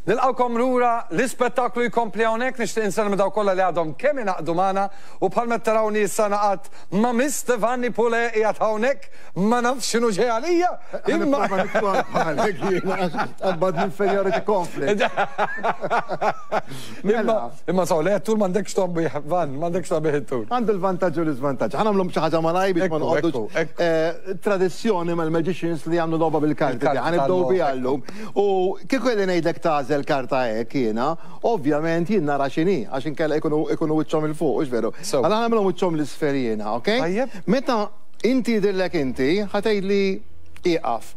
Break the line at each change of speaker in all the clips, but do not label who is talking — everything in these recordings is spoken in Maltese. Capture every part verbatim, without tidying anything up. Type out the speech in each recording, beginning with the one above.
Nilqawkom lura, l-ispettaklu jkompli hawnhekk, nixtieq insellem dawk kollha li għadhom kemm ingħaqdu magħna u bħalma tarawni issa naqat ma' Mister Vanni Pule qiegħed hawnhekk, ma nafx x'inhu ġej għalija. Imma
Tqabbad inferiority complex.
Imma imma saw le tul m'għandekx tombi Van, m'għandekx tombi tul.
Għandu l-vantaġġ u l-iżvantaġġ. Ħa nagħmlu xi ħaġa malaj biex ma noqogħdux. Tradizzjoni mal-magicians li jagħmlu logħba bil-karti. Ħa nibdew biha llum. U kieku qegħdin ngħidlek tagħżel karta hekk jiena, ovvjament jien nara x'inhi, għax inkella ikunu ikunu wiċċhom il fuq, hux veru. Għala nagħmilhom wiċċhom l-isfel jiena, okej? Meta inti jidhirlek inti, ħa tgħidli ieqaf.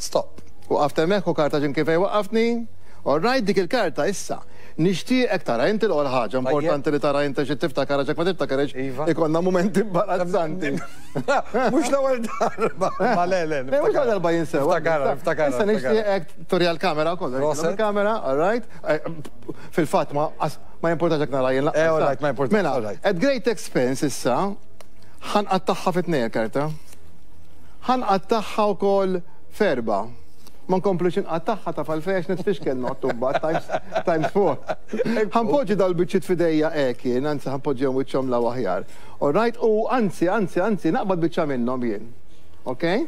Stop.
Waqaft hemmhekk u karta ġin kif waqqaftni. All right, dik il-karta issa. Nixtieqek tara inti l-ewwel ħaġa importanti li tara inti xi tiftakar għax ma tiftakarx ikollna mumenti imbarazzanti.
Mhux l-ewwel darba. Ma le le.
Mhux l-ewwel darba jinsew.
Niftakar, niftakar.
Issa nixtieqek turi għall-kamera wkoll. Il-kamera, all right. Fil-fatt ma ma jimportax jekk nara jien
Eh, all right, ma jimportax.
Mela, at great expense issa ħa nqattagħha fi tnejn karta. Ħa nqattagħha wkoll f'erba'. Ma nkomplux inqattagħha ta' falfex nitfixkel nottu mbagħad times times four. Ħa npoġġi dal-biċċiet f'idejja hekk jien, anzi ħa npoġġihom wiċċhom la aħjar. All right, u anzi, anzi, anzi, naqbad biċċa minnhom jien. Okay?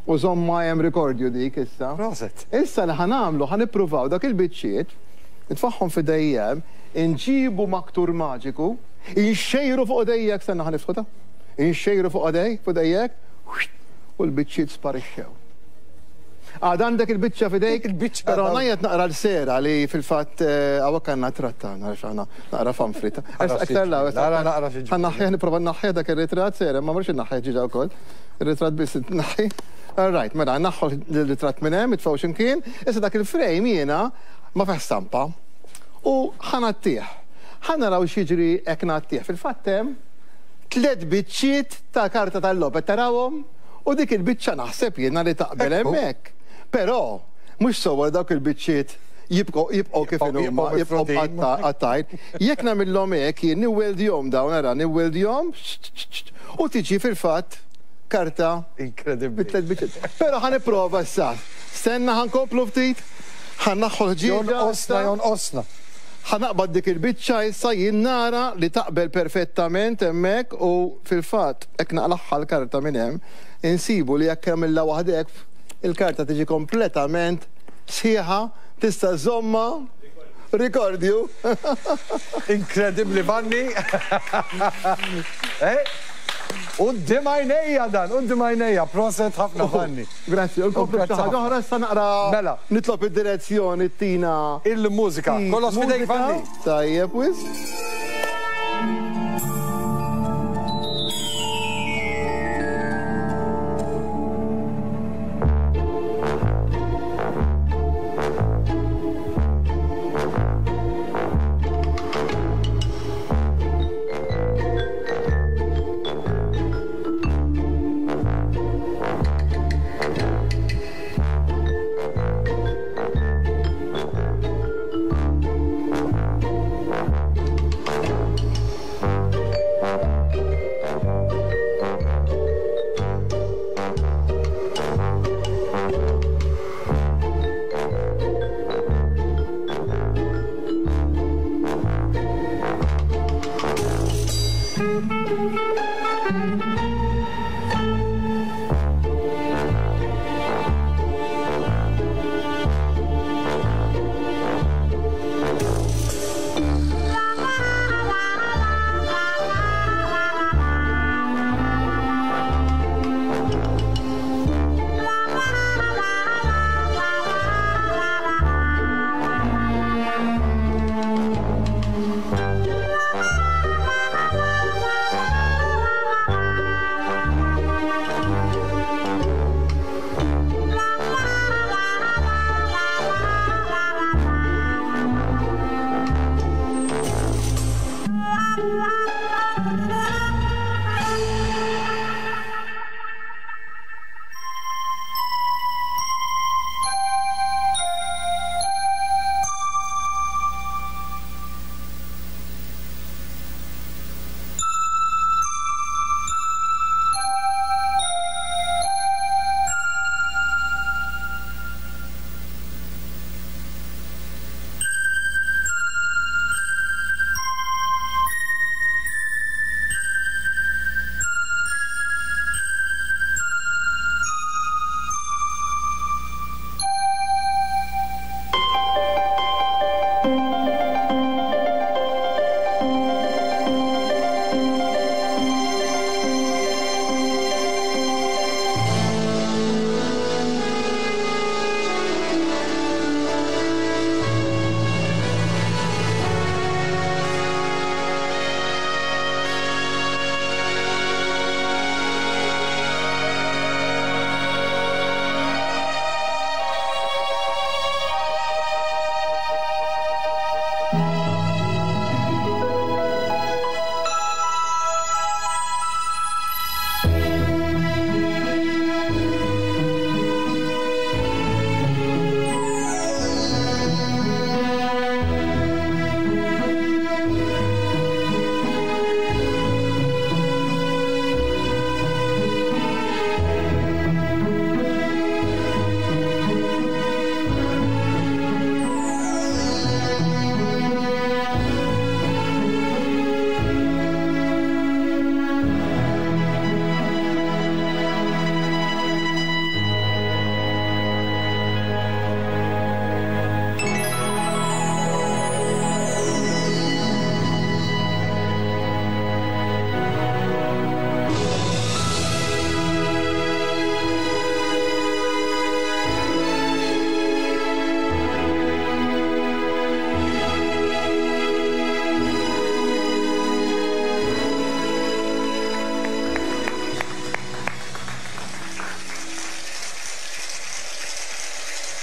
U żomma hemm rikordju dik issa.
Proset.
Issa li ħa nagħmlu, ħa nippruvaw dak il-biċċiet, nitfagħhom f'idejjem, inġibu maktur maġiku, inxejru fuq idejjek, stenna ħa niftħu ta' inxejru fuq idej, fuq idejjek, u l-biċċiet sparixxew. Għad għandek il-biċċa f'idejk,
Il-biċċa
però
għadha.
ngħid naqra l-sera li fil-fatt hawnhekk għandna tratta, nara x'aħna naqra famfrita.
Naqra
Aktar la,
xi- naqra naqra xi
Ħa naħħi, nipprova naħħi dak ir-ritratt sera, ma marx naħħi ġiġa wkoll. Ir-ritratt biss naħħi. All right, mela naħħu l-ritratt minn hemm, itfgħu x'imkien, issa dak il-frame jiena ma fih stampa. U ħa ngħattih. Ħa naraw x'jiġri hekk ngħattih. Fil-fatt hemm tliet biċċiet ta' karta tal-logħob, tarawhom? U dik il-biċċa naħseb jiena li taqbel
Ekku.
hemmhekk. Però mhux sewwa dawk il-biċċiet jibqgħu jibqgħu kif
Jibqgħu-
inhuma,
jibqgħu
jibqgħu
mifrudin.
għattajn. Jekk nagħmilhom hekk jien niweldjhom dawn ara niweldjhom u tiġi fil-fatt karta
Inkredibbli.
bit-tliet biċċiet. Però ħa nipprova issa. Stenna ħa nkomplu ftit, ħa naħħu ħġieġa.
Jonqosna, jonqosna.
Ħa naqbad dik il-biċċa issa jien nara li taqbel perfettament hemmhekk u fil-fatt hekk naqlaħħa l-karta minn hemm, insibu li jekk hemm waħdek il-karta tiġi kompletament sħiħa, tista' żomma rikordju.
Inkredibbli, Vanni. Eh? Quddiem għajnejja dan, quddiem għajnejja, proset ħafna Vanni.
Grazzi, u nkomplu
Grazzi
xi ħaġa
ħafna.
oħra issa naqra.
Mela.
Nitlob id-direzzjoni tina.
Il-mużika, kollox f'idejk
Mużika.
Vanni.
Tajjeb, wis.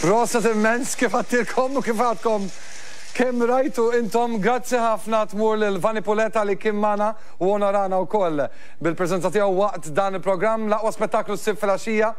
Prosit immens, kif għedtilkom u kif għadkom kemm rajtu intom, grazzi ħafna tmur lil Vanni Pulè talli kien magħna u onorana wkoll bil-preżenza tiegħu waqt dan il-programm. L-aqwa spettaklu ssib filgħaxija.